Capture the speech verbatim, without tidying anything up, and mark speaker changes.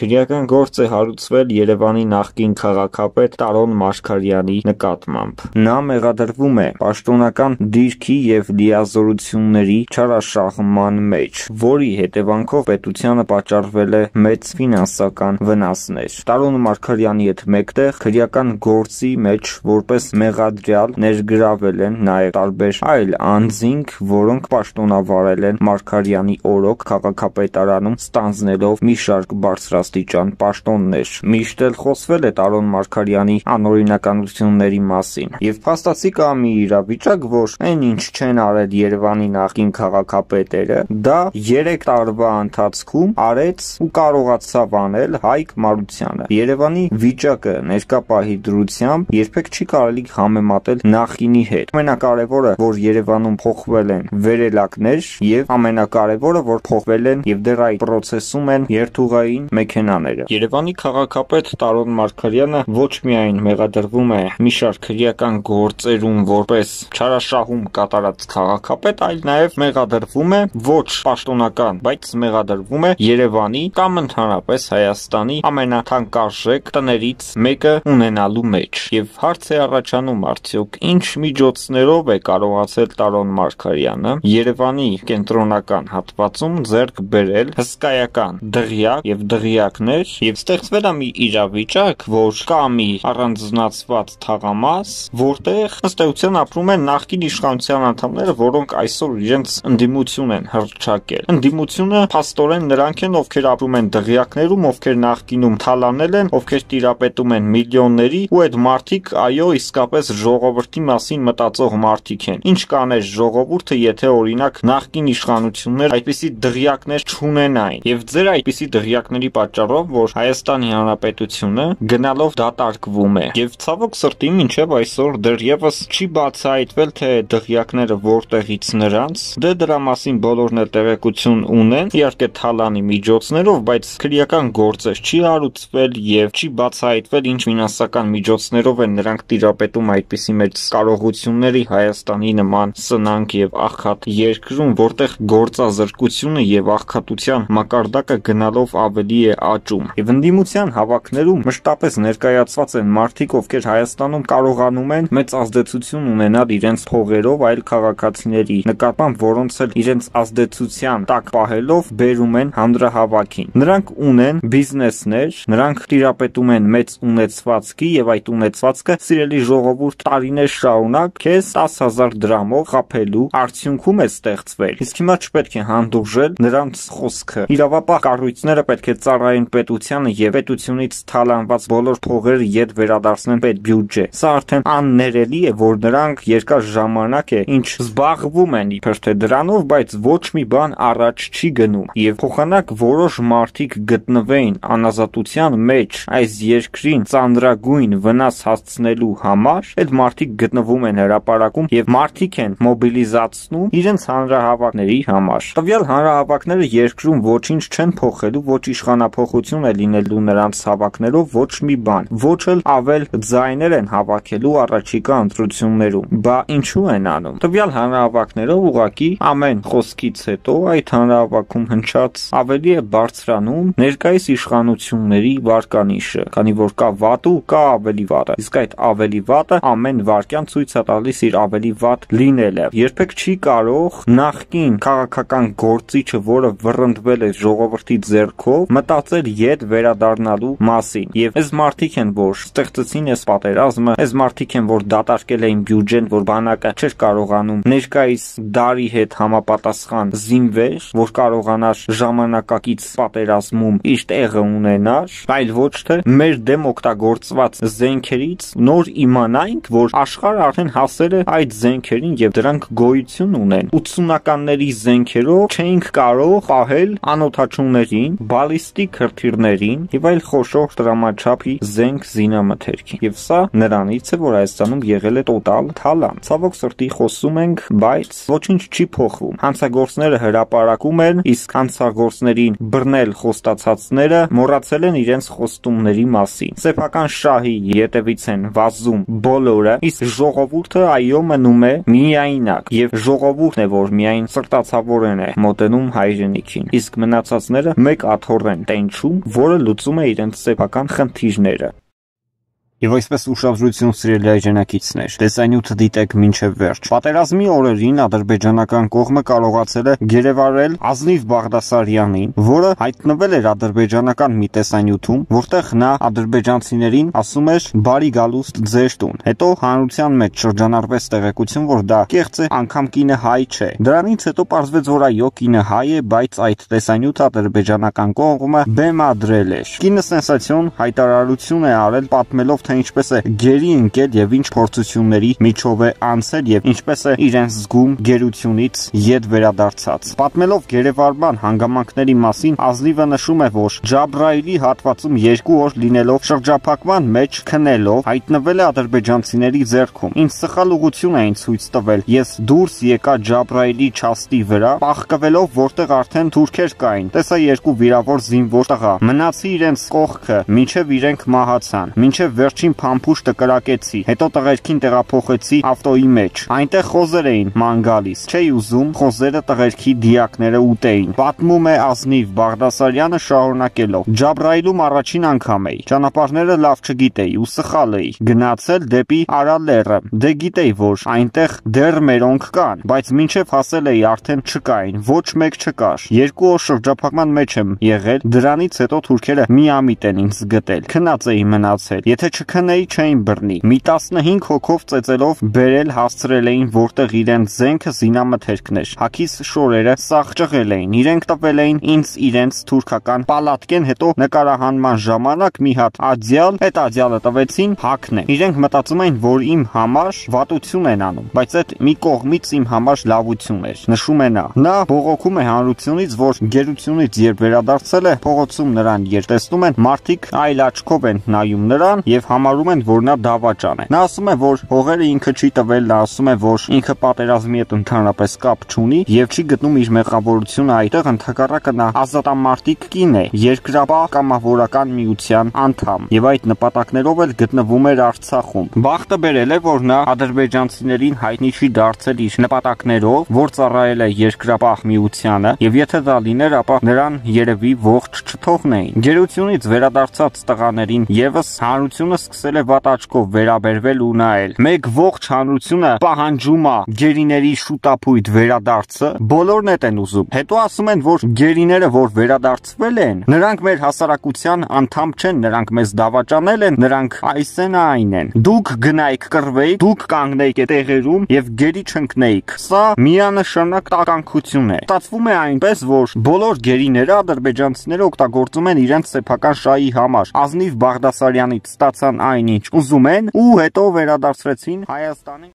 Speaker 1: Քրեական գործ է հարուցվել Երևանի նախկին քաղաքապետ Տարոն Մարգարյանի նկատմամբ։ Նա մեղադրվում է պաշտոնական դիրքի և լիազորությունների չարաշահման մեջ, որի հետևանքով պետությանը պատճառվել է մեծ ֆինանսական վնասներ։ Տարոն Մարգարյանի հետ մեկտեղ քրեական գործի մեջ որպես մեղադրյալ ներգրավել են նաև տարբեր այլ անձինք, որոնք պաշտոնավարել են Մարգարյանի օրոք քաղաքապետարանում ստանձնելով մի շարք բարձրաստիճան պաշտոններ։ Միշտ էլ խոսվել է Տարոն Մարգարյանի անօրինականությունների մասին, և փաստացի կա մի իրավիճակ, որ այն ինչ չեն արել Երևանի նախկին քաղաքապետերը, դա երեք տարվա ընթացքում արեց ու կարողացավ անել Հայկ Մարությանը։ Երևանի վիճակը ներկա պահի դրությամբ երբեք չի կարելի համեմատել նախկինի հետ։ Ամենակարևորը, որ Երևանում փոխվել են վերելակներ, և ամենակարևորը, որ փոխվել են և դեռ այդ պրոցեսում են երթուղային մեքենաները։ Երևանի քաղաքապետ Տարոն Մարգարյանը ոչ միայն մեղադրվում է մի շարք քրեական գործերում որպես չարաշահում կատարած քաղաքապետ, այլ նաև մեղադրվում է ոչ պաշտոնական, բայց մեղադրվում է Երևանի կամ ընդհանրապես Հայաստանի ամենաթանկարժեք տներից մեկը ունենալու մեջ։ Եվ հարց է առաջանում, արդյոք ինչ միջոցներով է կարողացել Տարոն Մարգարյանը Երևանի կենտրոնական հատվածում ձեռք բերել հսկայական դղյակ և դղյակներ, և ստեղծվել է մի իրավիճակ, որ կա մի առանձնացված թաղամաս, որտեղ ըստ էության ապրում են նախկին իշխանության անդամները, որոնք այսօր իրենց ընդդիմություն են հռչակել։ Ընդդիմությունը փաստորեն նրանք են, ովքեր ապրում են դղյակներում, ովքեր նախկինում թալանել են, ովքեր տիրապետում են միլիոնների, ու այդ մարդիկ, այո, իսկապես ժողովրդի մասին մտածող մարդիկ են։ Ինչ կաներ ժողովուրդը, եթե օրինակ նախկին իշխանություններ այդպիսի դղյակներ չունենային, և ձեր այդպիսի դղյակների պատճառով, որ Հայաստանի Հանրապետությունը գնալով դատարկվում է, և ցավոք սրտի մինչև այսօր դեռևս չի բացահայտվել, թե դղյակները որտեղից նրանց, դե դրա մասին բոլորն էլ տեղեկություն ունեն, իհարկե թալանի միջոցներով, բայց քրեական գործեր չի հարուցվել և չի բացահայտվել ինչ ֆինանսական միջոցներով են նրանք տիրապետում այդպիսի մեծ կարողությունների Հայաստանի նման սնանկ և աղքատ երկրում, որտեղ գործազրկությունը և աղքատության մակարդակը գնալով ավելի է աճում։ Եվ ընդդիմության հավաքներում մշտապես ներկայացված են մարդիկ, ովքեր Հայաստանում կարողանում են մեծ ազդեցություն ունենալ իրենց փողերով այլ քաղաքացիների նկատմամբ, որոնց էլ իրենց ազդեցության տակ պահելով բերում են հանրահավաքին։ Նրանք ունեն բիզնեսներ, նրանք տիրապետում են մեծ ունեցվածքի, և այդ ունեցվածքը, սիրելի ժողովուրդ, տարիներ շարունակ քեզ տասը հազար դրամով խաբելու արդյունքում է ստեղծվել։ Իսկ հիմա չպետք է հանդուրժել նրանց խոսքը։ Իրավապահ կառույցները պետք է ծառայեն պետությանը և պետությունից թալանված բոլոր փողերը ետ վերադարձնեն պետբյուջե։ Սա արդեն աններելի է, որ նրանք երկար ժամանակ է ինչ զբաղվում են իբր թե դրանով, բայց ոչ մի բան առաջ չի գնում, և փոխանակ որոշ մարդիկ գտնվեին անազատության մեջ այս երկրին ծանրագույն վնաս հասցնելու համար, այդ մարդիկ գտնվում են հրապարակում և մարդիկ են մոբիլիզացնում իրենց հանրահավաքների համար։ Տվյալ հանրահավաքները երկրում ոչինչ չեն փոխելու, ոչ իշխանափոխություն է լինելու նրանց հավաքներով, ոչ մի բան, ոչ էլ ավել ձայներ են հավաքելու առաջիկա ընտրություններում։ Բա ինչու են անում։ Տվյալ հանրահավաքներով ուղղակի ամեն խոսքից հետո այդ հանրահավաքում հնչած ավելի է բարձրանում ներկայիս իշխանությունների վարկանիշը, քանի որ կա վատը ու կա ավելի վատը, իսկ այդ ավելի վատը ամեն վարքյան ցույց է տալիս իր ավելի վատ լինելը։ Երբեք չի կարող նախկին քաղաքական գործիչը, որը վռնդվել է ժողովրդի ձեռքով, մտածել ետ վերադառնալու մասին։ Եվ այս մարդիկ են, որ ստեղծեցին այս պատերազմը, այս մարդիկ են, որ դատարկել էին բյուջեն, որ բանակը չէր կարողանում ներկայիս դարի հետ համապատասխան զինվեր, որ կարողանար ժամանակակից պատերազմում իր տեղը ունենար, այլ ոչ թե մեր դեմ օգտագործված զենքերից նոր իմանայինք, որ աշխարհը արդեն հասել է այդ զենքերին և դրանք գոյություն ունեն։ ութսունականների զենքերով չէինք կարող պահել անօդաչուներին, բալիստիկ հրթիռներին և այլ խոշոր տրամաչափի զենք զինամթերքին։ Եվ սա նրանից է, որ Հայաստանում եղել է տոտալ թալան։ Ցավոք սրտի խոսում ենք, բայց ոչինչ չի փոխվում։ Հանցագործները հրապարակում են, իսկ հանցագործներին բռնել խոստացածները մոռացել են իրենց խոստումների մասին։ Սեփական շահի ետևից են վազում բոլորը, իսկ ժողովուրդը այո մնում է միայնակ, և ժողովուրդն է, որ միայն սրտացավորեն է մոտենում հայրենիքին, իսկ մնացածները մեկ աթոռ են տենչ ճանաչում, որը լուծում է իրենց սեփական խնդիրները։ Եվ այսպես ուշադրություն սիրելի հայրենակիցներ, տեսանյութը դիտեք մինչև վերջ։ Պատերազմի օրերին ադրբեջանական կողմը կարողացել է գերեվարել Ազնիվ Բաղդասարյանին, որը հայտնվել էր ադրբեջանական մի տեսանյութում, որտեղ նա ադրբեջանցիներին ասում էր բարի գալուստ ձեր տուն։ Հետո հանրության մեջ շրջանառվեց տեղեկություն, որ դա կեղծ է, անգամ կինը հայ չէ։ Դրանից հետո պարզվեց, որ այո, կինը հայ է, բայց այդ տեսանյութը ադրբեջանական կողմը բեմադրել էր։ Կինը սենսացիոն հայտարարություն է արել, պատմելով, թե ինչպես է գերի ընկել եւ ինչ փորձությունների միջով է անցել եւ ինչպես է իրեն զգում գերությունից ետ վերադարձած։ Պատմելով գերեվարման հանգամանքների մասին, Ազնիվը նշում է, որ Ջաբրայելի հատվածում երկու օր լինելով շրջափակման մեջ քնելով հայտնվել է ադրբեջանցիների ձեռքում։ Ինչ սխալ ուղղություն էին ցույց տվել։ Ես դուրս եկա Ջաբրայելի չաստի վրա, պաղկվելով, որտեղ արդեն թուրքեր կային։ Տեսա երկու վիրավոր զինվոր տղա։ Մնացի իրենց կողքը, մինչև իրենք մահացան։ Մինչև վերջին փամփուշտը կրակեցի, հետո տղերքին տեղափոխեցի ավտոյի մեջ։ Այնտեղ խոզեր էին ման գալիս։ Չէի ուզում խոզերը տղերքի դիակները ուտեին։ Պատմում է Ազնիվ Բաղդասարյանը շարունակելով. Ջաբրայիլում առաջին անգամ էի։ Ճանապարհները լավ չգիտեի ու սխալ էի գնացել դեպի Արալեռը։ Դե գիտեի, որ այնտեղ դեռ մերոնք կան, բայց մինչև հասել էի արդեն չկային, ոչ մեկ չկար։ Երկու օր շրջափակման մեջ եմ եղել, դրանից հետո թուրքերը միամիտ են ինձ գտել։ Քնած էի մնացել։ Եթե չքնեի չէին բռնի։ Մի տասնհինգ հոգով ծեծելով բերել հասցրել էին, որտեղ իրենց զենքը զինամթերքն էր։ Հագիս շորերը սաղ ճղել էին։ Իրենք տվել էին ինձ իրենց թուրքական պալատկեն, հետո նկարահանման ժամանակ մի հատ ադյալ, այդ ադյալը տվեցին հագնեմ։ Իրենք մտածում էին, որ իմ համար վատություն են անում, բայց այդ մի կողմից իմ համար լավություն էր։ Նշում է նա։ Նա բողոքում է հանրությունից, որ գերությունից երբ վերադարձել է, փողոցում նրան երտեսնում են, մարդիկ այլ աչքով են նայում նրան եւ համարում են, որ նա դավաճան է։ Նա ասում է, որ հողերը ինքը չի տվել, նա ասում է, որ ինքը պատերազմի հետ ընդհանրապես կապ չունի եւ չի գտնում իր մեղավորությունը այդտեղ, ընդհակառակը նա ազատամարտիկ կին է, երկրապահ կամավորական միության անդամ եւ այդ նպատակներով էլ գտնվում էր Արցախում։ Բախտը բերել է, որ նա ադրբեջանցիներին հայտնի չի դարձել իր նպատակներով, որ ծառայել է երկրապահ միությանը եւ եթե դա լիներ, ապա նրան երևի ողջ չթողնեին։ Գերությունից վերադարձած տղաներին եւս հանրությունը սկսել է վատ աչքով վերաբերվել ու նայել։ Մեկ ողջ հանրությունը պահանջում է գերիների շուտապույտ վերադարձը, բոլորն են ուզում։ Հետո ասում են, որ գերիները, որ վերադարձվել են, նրանք մեր հասարակության անդամ չեն, նրանք մեզ դավաճանել են, նրանք այս են այն են։ Դուք գնայիք կռվեիք, դուք կանգնեիք այդ տեղերում եւ գերի չընկնեիք։ Սա միանշանակ տականքություն է։ Ստացվում է այնպես, որ բոլոր գերիները ադրբեջանցիները օգտագործում են իրենց սեփական շահի համար։ Ազնիվ Բաղդասարյանից ստացան այնինչ ուզում են ու հետո վերադարձրեցին Հայաստանին։